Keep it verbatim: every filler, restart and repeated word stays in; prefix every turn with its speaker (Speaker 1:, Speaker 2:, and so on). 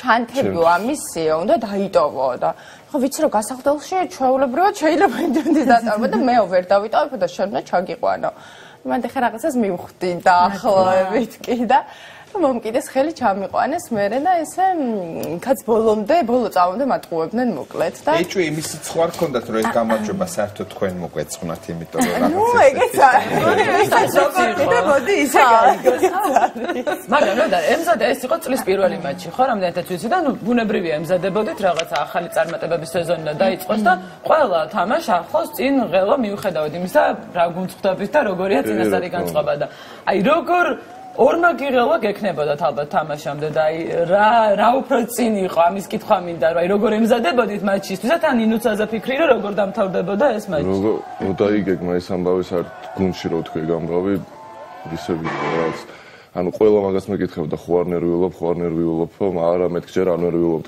Speaker 1: ჩანთებიო ამისიო, უნდა დაიტოვო და ხო ვიცი რომ გასახდელში ჩვეულებრივად შეიძლება იმდენიც დაწარბო და მე ვერ დავიტოვებ და შენ უნდა ჩაგიყვანო. მანდ ხე რაღაცას მივხვდი და ახლოვებით კი და მომკიდეს ხელი ჩამიყვანეს მერე და ესე კაც ბოლომდე ბოლო წამამდე მატყუებდნენ მოკლედ და
Speaker 2: ეჭვი იმის სხვა რქონდათ რომ ეს გამარჯვება საერთოდ თქვენ მოგვეწყნათ იმიტომ რომ
Speaker 1: რაღაცა ნუ ეგეც არის ეს ზოგადად მოდი ისე გაიგოს
Speaker 3: მაგრამ რა და ემზადა ეს იყო წლის პირველი მატჩი ხო რამდენადაც ვიცი და ნუ ბუნებრივია ემზადებოდით რაღაცა ახალი წარმატებების სეზონი დაიწყოს და ყველა თამაში ახლოს წინ ღელო მიუხედავად იმისა რა გუნდხდებით და როგორია წინასწარი განწყობა და აი როგორ ორმა გიღელვა გექნებოდათ ალბათ თამაშამდე და აი რა რა უფრო წინ იყო ამის კითხვა მინდა რომ აი როგორ ემზადებოდით მატჩისთვის და თან ინუცაზე ფიქრი რომ როგორ დამთავრდებოდა ეს მატჩი
Speaker 4: როგორ დაიგეგმა ეს ამბავი საერთოდ გუნდში რო თქვი გამბავი ისე ვიყავს ანუ ყველა მაგას მეკითხებოდა ხო არ ნერვიულობ ხო არ ნერვიულობ მაგრამ მეთქე რა ნერვიულობ